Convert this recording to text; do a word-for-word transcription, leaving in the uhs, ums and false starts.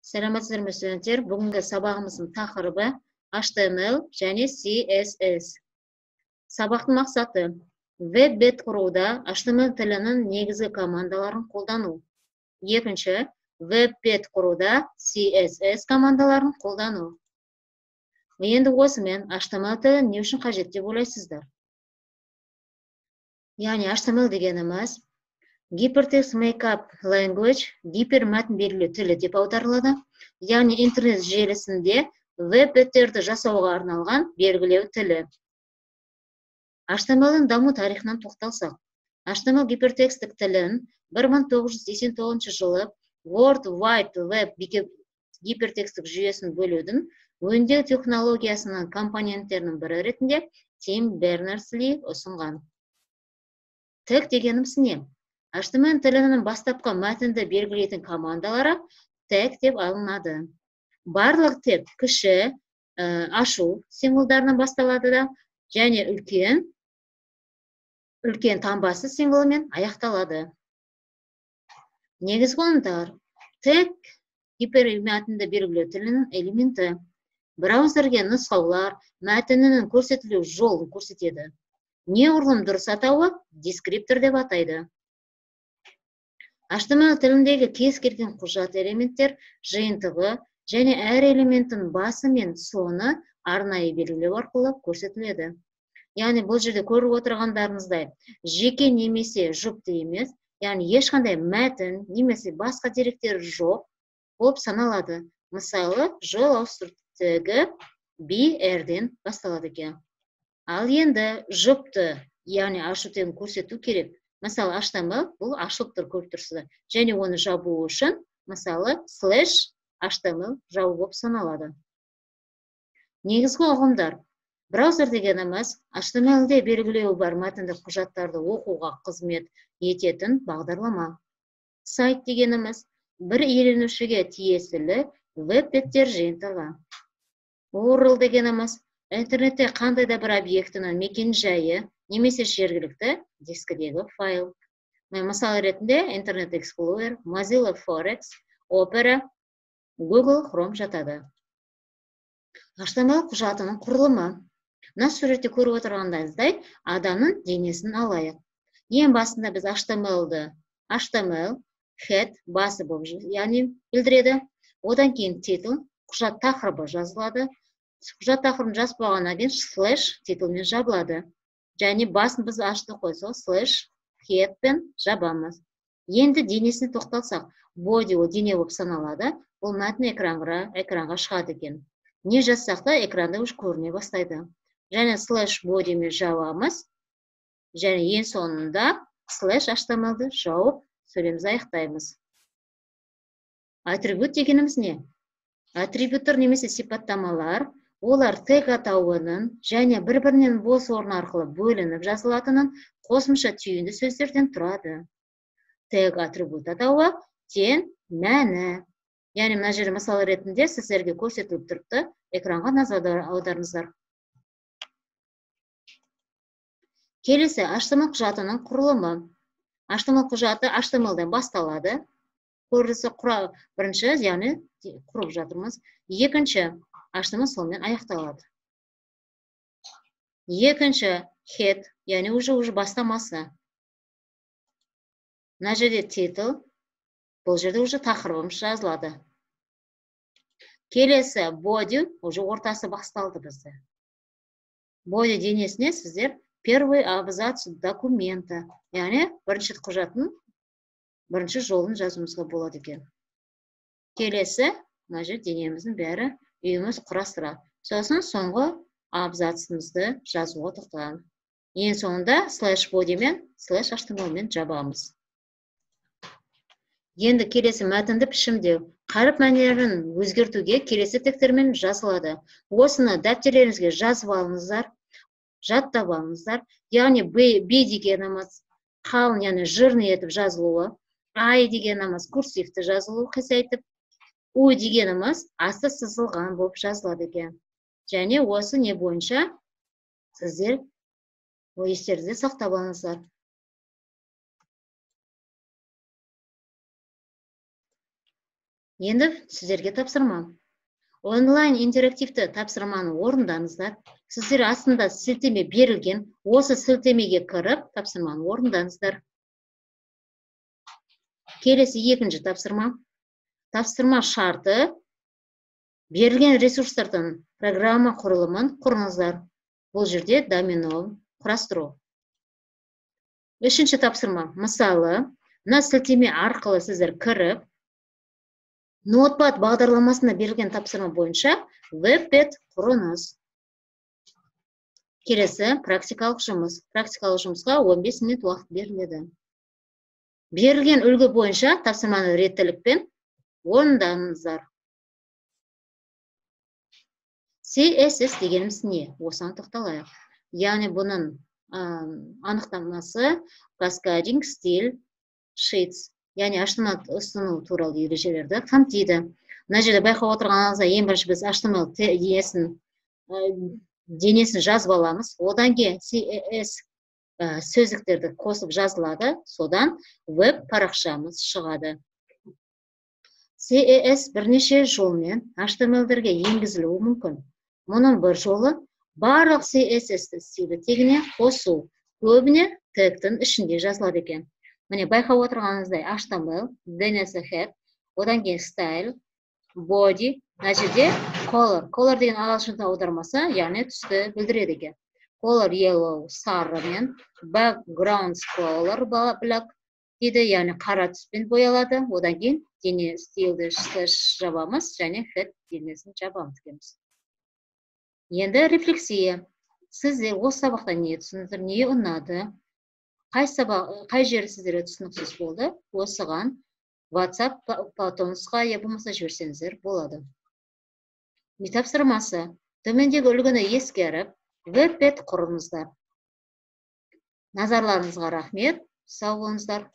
Саламатсыздарбы студенттер, бүгінгі сабағымыздың тақырыбы H T M L және C S S. Сабақтың мақсаты веб-бет құруда H T M L тілінің негізгі командаларын қолдану. Екінші, веб-бет құруда C S S командаларын қолдану. Енді осымен H T M L тілі не үшін қажет деп ойлайсыздар? Яғни H T M L дегеніміз Hypertext Markup Language, гипермәтін белгілеу тілі деп аударылады. Яғни интернет желісінде веб-беттерді жасауға арналған белгілеу тілі. H T M L-дің даму тарихынан тоқталсақ, H T M L гипертекстік тілін бір мың тоғыз жүз сексен тоғызыншы жылы World Wide Web гипертекстік жүйесін бөлудің өңдеу технологиясының компоненттерінің бірі ретінде Тим Бернерс-Ли ұсынған. Тег дегеніміз не? H T M L тілінің бастапқы мәтінді белгілейтін командалары тег деп алынады. Барлық тег кіші, ашу символдарынан басталады да, және үлкен, үлкен таңбасы символымен аяқталады. Негізгі ұғымдар. Тег гипермәтінді белгілеу тілінің элементі. Браузерге нұсқаулар мәтінінің көрсетілу жолын көрсетеді. Неғұрлым дұрыс атауы дескриптор деп атайды. H T M L тіліндегі кез келген құжат элементтер жиынтығы және әр элементтің басы мен соңы арнайы белгілеу арқылы көрсетіледі. Яғни бұл жерде көріп отырғандарыңыздай жеке немесе жұпты емес, яғни ешқандай мәтін немесе басқа деректер жоқ болып саналады. Мысалы, жол ауыстыру тегі B R-ден басталады екен. Ал енді жұпты, яғни ашу тегін көрсету керек. Мысалы, H T M L бұл ашылып тұр көріп тұрсыздар. Және оны жабу үшін, мысалы, слэш H T M L жабу болып саналады. Негізгі ұғымдар. Браузер дегеніміз H T M L-де белгілеуі бар мәтіндік құжаттарды оқуға қызмет ететін бағдарлама. Сайт дегеніміз бір иеленушіге тиесілі веб-беттер жиынтығы. U R L дегеніміз интернетте қандай да бір объектінің мекен-жайы немесе жергілікті дискідегі файл. Мысалы ретінде Internet Explorer, Mozilla Forex, Opera, Google Chrome жатады. H T M L құжатының құрылымы. Мына суретте көріп отырғандайыздай адамның денесін алайық. Ең басында біз H T M L-ді H T M L, head, басы болып, яғни білдіреді. Одан кейін титул, құжат тақырыбы жазылады. Құжат тақырыбын жазып болғаннан кейін слэш титулмен жабылады. Және басын біз ашты қойсақ, слэш headпен жабамыз. Енді денесіне тоқталсақ, body ол дене болып саналады. Бұл мәтін экранға, экранға шығады екен. Не жазсақ та экранда үш көріне бастайды. Және слэш bodyмен жабамыз. Және ең соңында слэш H T M L-ді жауып сөйлемімізді аяқтаймыз. Атрибут дегеніміз не? Атрибуттар немесе сипаттамалар, олар тег атауының және бір-бірінен бос орын арқылы бөлініп жазылатынын қосымша түйінді сөздерден тұрады. Тег атрибут атауы тең мәні. Яғни мына жерде мысалы ретінде сіздерге көрсетіліп тұрыпты, экранға назар аударыңыздар. Келесі H T M L құжатының құрылымы. H T M L құжаты H T M L-ден басталады. Көрісі құра бірінші, яғни құрып жатырмыз. Екінші H T M L сонымен аяқталады. Екінші head, яғни уже бастамасы. Мына жерде title, бұл жерде уже тақырыбымыз жазылады. Келесі body, уже ортасы басталды бізде. Body денесіне сіздер первый абзац документа, яғни бірінші құжаттың бірінші жолын жазуымызға болады екен. Келесі, мына жер денеміздің бәрі үйіміз құрастырады. Сосын соңғы абзацымызды жазуға тоқталамыз. Ең соңында слэш body мен слэш H T M L мен жабамыз. Енді келесі мәтінді пішімдеу. Қаріп мәнерін өзгертуге келесі тектермен жазылады. Осыны дәптерлеріңізге жазып алыңыздар, жаттап алыңыздар. Яғни B дегеніміз қалың, яғни жирный етіп жазылуы, I дегеніміз курсивті жазылуы қисайтып, U дегеніміз асты сызылған болып жазылады екен. Және осы не бойынша сіздер естеріңізде сақтап алыңыздар. Енді сіздерге тапсырма. Онлайн интерактивті тапсырманы орындаңыздар. Сіздер астында сілтеме берілген, осы сілтемеге кіріп, тапсырманы орындаңыздар. Келесі екінші тапсырма. Тапсырма шарты берілген ресурстардан программа құрылымын құрыңыздар. Бұл жерде домено құрастыру. Үшінші тапсырма. Мысалы, мына сілтеме арқылы сіздер кіріп, Notepad бағдарламасына берілген тапсырма бойынша веб-пэд құрыңыз. Келесі практикалық жұмыс. Практикалық жұмысқа он бес минут уақыт беріледі. Берілген үлгі бойынша тапсырманы реттілікпен орындаңыздар. си эс эс дегеніміз не? Осыған тоқталайық. Яғни бұның анықтамасы Cascading Style Sheets. Яғни эйч ти эм эл ұсыну туралы ережелерді қамтиды. Мына жерде байқап отырғаныңызда ең бірінші біз эйч ти эм эл денесін жазып аламыз. Одан кейін си эс эс сөздіктерді қосып жазылады. Содан веб парақшамыз шығады. си эс эс бірнеше жолмен эйч ти эм эл-дерге енгізілуі мүмкін. Мұның бір жолы барлық си эс эс-ті стилді тегіне қосу. Көбіне тегтің ішінде жазылады екен. Міне байқап отырғаныңыздай эйч ти эм эл, ди эн эс head, одан кейін style, body, мына жерде color. Color деген ағылшын аудармасы, яғни түсті білдіреді екен. Color yellow сарымен, background color black дейді, яғни қара түспен боялады. Одан кейін дене стилді жабамыз, және head денесін жабамыз дейміз. Енді рефлексия. Сіздер осы сабақтан не түсіндіңіздер, не ұнады? Қай сабақ, қай жері сіздерге түсініксіз болды? Осыған WhatsApp нұсқа я болмаса жіберсеңіздер болады. Тапсырмасы. Төмендегі үлгіні ескеріп, веб-пэд құрыңыздар. Назарларыңызға рахмет. Сау болыңыздар.